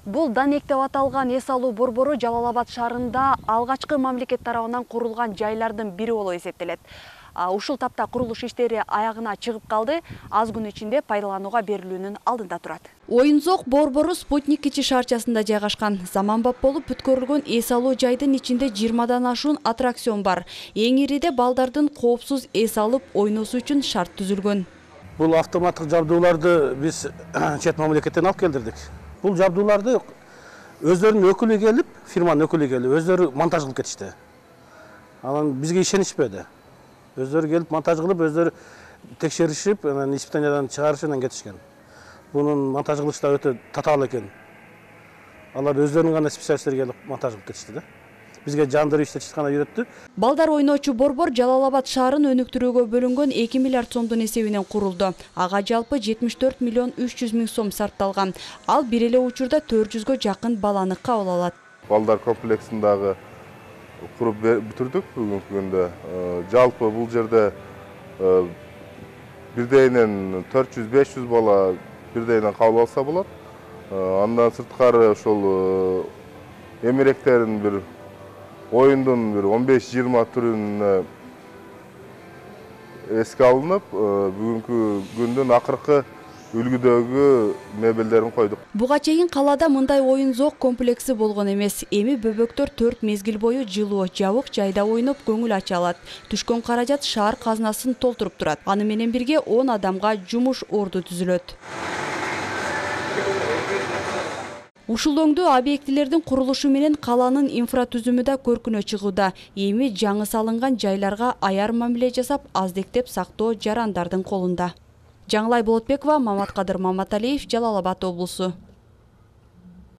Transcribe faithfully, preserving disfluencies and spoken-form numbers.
Бул Данек деп аталган эс алуу борбору Жалал Абад шаарында алгачкы мамлекет тарабынан курулган жайлардын бири болуп эсептелет. Ушул тапта курулуш иштери аягына чыгып калды, аз күн ичинде пайдаланууга берилүүнүн алдында турат. Оюн-зоок борбору Спутник кичи шаарчасында жайгашкан. Заманбап болуп бүткөрүлгөн эс алуу жайдын ичинде жыйырмадан ашуун аттракцион бар. Эң ириде балдардын коопсуз эс алып ойносу үчүн шарт түзүлгөн. Бул автоматтык жабдууларды биз чет мамлекеттен алып келдирдик. Бул жабдууларды өздөрүнүн өкүлү келип, фирманын өкүлү келип, өздөрү монтаж кылып кетишти. Анан бизге ишенишпеди. Өздөрү келип монтаж кылып, өздөрү текшеришип, анан испытаниядан чыгарышып анан кетишкен. Бунун монтаж кылышта өтө татаал экен. Алар өздөрүнүн гана специалисттери келип монтаж кылып кетишти да. Бизге жандырып иштетишти гана үйрөттү. Балдар ойночу борбор Жалал Абад шаарын өнүктүрүүгө бөлүнгөн эки миллиард сомдун эсебинен курулду. Ага жалпы жетимиш төрт миллион үч жүз миң сом сарпталган. Ал бир эле учурда төрт жүзгө жакын баланы кабыл алат. Балдар комплексиндагы куруп бүтүрдүк бүгүнкү күндө. Жалпы бул жерде бирдейинен төрт жүз беш жүз бала бирдейинен кабыл алса болот. Андан сырткары ошол эмеректерин бир оюндун бир он беш жыйырма түрүн эске алынып, бүгүнкү күндүн акыркы үлгүдөгү мебелдерин койдук. Буга чейин калаада мындай оюн-зоок комплекси болгон эмес. Эми бөбөктөр төрт мезгил бою жылуу, жабык жайда ойноп көңүл ача алат. Түшкөн каражат шаар казынасын толтуруп турат. Аны менен бирге он адамга жумуш орду түзүлөт. Ушул өңдүү объектилердин курулушу менен каланын инфратүзүмү да көркүнө чыгууда. Эми жаңы салынган жайларга аяр мамиле жасап, аздектеп сактоо жарандардын колунда. Жаңылай Болотбекова, Маматкадыр Маматалиев, Жалал Абад облусу.